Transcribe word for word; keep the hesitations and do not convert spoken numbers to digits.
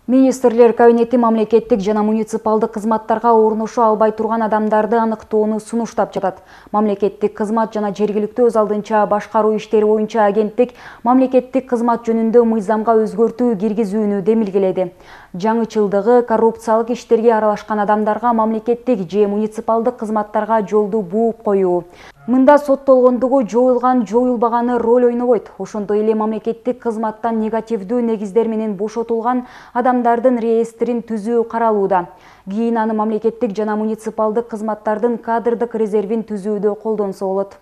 Министрлер кабинети мамлекеттик жана муниципалдык кызматтарга орношо албай турган адамдарды аныктоону сунуштап жатат. Мамлекеттик кызмат жана жергиликтүү өз алдынча башкаруу иштери боюнча агенттик мамлекеттик кызмат жөнүндө мыйзамга өзгөртүү киргизүүнү демилгеледи. Жаңычылдыгы коррупциялык иштерге аралашкан адамдарга мамлекеттик же муниципалдык кызматтарга жолду бууп коюу. Мында соттолгондугу жоюлган жоюлбаганы роль ойнобойт. Ошондой эле мамлекеттик кызматтан негативдүү негиздер менен бошотулган адамдардын реестрин түзүү каралууда. Кийин аны мамлекеттик жана муниципалдык кызматтардын кадрдык резервин түзүүдө колдонсо болот.